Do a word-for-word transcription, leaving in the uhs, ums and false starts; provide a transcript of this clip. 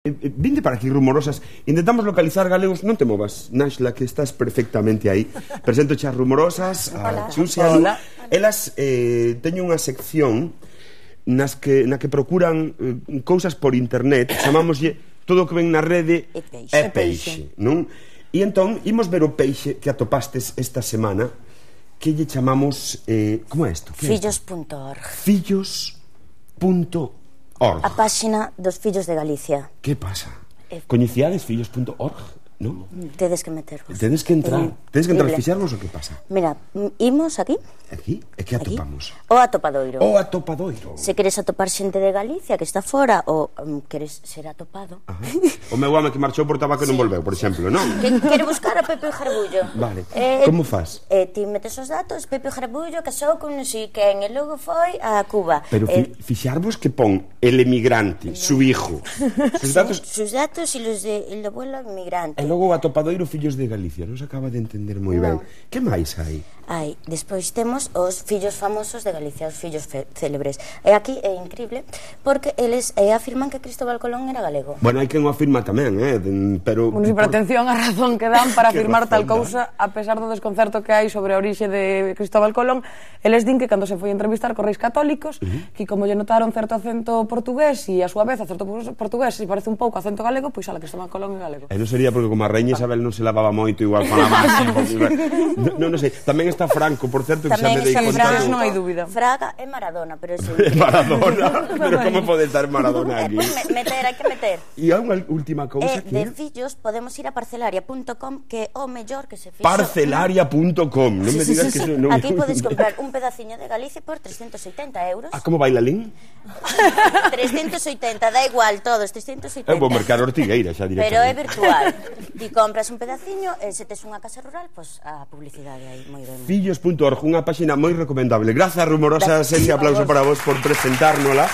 Vinde para aquí, rumorosas. Intentamos localizar galegos. Non te movas, Naxla, que estás perfectamente aí. Presento as rumorosas, a Chus e a Lu. Elas eh, teñen unha sección nas que, na que procuran eh, cousas por internet. Chamámoslle todo o que ven na rede é peixe, non? E entón, imos ver o peixe que atopastes esta semana, que lle chamamos, eh, como é isto? fillos punto org. Fillos punto org. A páxina dos fillos de Galicia. Que pasa? Eh, Coñecíades fillos punto org, non? Tedes que metervos. Tedes que entrar. Eh, Tedes que entrar a libre. fixarvos o que pasa? Mira, imos aquí. Aquí? E que atopamos? O atopadoiro. O atopadoiro. Se queres atopar xente de Galicia que está fora ou um, queres ser atopado. Ajá. O meu home que marchou por tabaco e non volveu, por exemplo, non? Que quere buscar a Pepe Jarbullo. Vale. Eh, Como faz? Eh, ti metes os datos, Pepe Jarbullo casou con non sei quen e logo foi a Cuba. Pero fi, eh, fixarvos que pon el emigrante, su hijo. Sus datos... Sus datos e los de el abuelo migrante. E logo o atopadoiro fillos de Galicia. Non se acaba de entender moi ben. Que máis hai? Hai, despois temos os fillos famosos de Galicia, os fillos célebres. E aquí é increíble porque eles eh, afirman que Cristóbal Colón era galego. Bueno, hai quen o afirma tamén, eh? Pero... Bueno, si, pero atención a razón que dan para Que afirmar tal razón cousa, a pesar do desconcerto que hai sobre a orixe de Cristóbal Colón, eles din que cando se foi a entrevistar con reis católicos, uh -huh. que como lle notaron certo acento portugués e a súa vez certo portugués se parece un pouco a acento galego, pois ala, Cristóbal Colón é galego. E non sería porque como a Reina Isabel non se lavaba moito, igual falaba así. Non, non sei, tamén está Franco, por certo, que xa me dei conta. Fraga non hai dúbida. Fraga é Maradona, pero eso... Maradona, pero como pode estar Maradona aquí? Eh, meter, hai que meter. E hai unha última cousa Eh, que... de fillos podemos ir a parcelaria punto com, que é o mellor que se fixo... Parcelaria punto com, non me digas que... Non... Aquí podes comprar un pedaciño de Galicia por trescentos oitenta euros. Ah, como bailalín? trescentos oitenta, da igual, todos, trescentos oitenta. É un bom mercado Ortigueira, xa directamente. Pero é virtual. Ti compras un pedaciño e se tes unha casa rural, pois a publicidade aí, moi ben. fillos punto org, unha páxina moi recomendable. Grazas, rumorosas, ese aplauso para vos por presentárnola.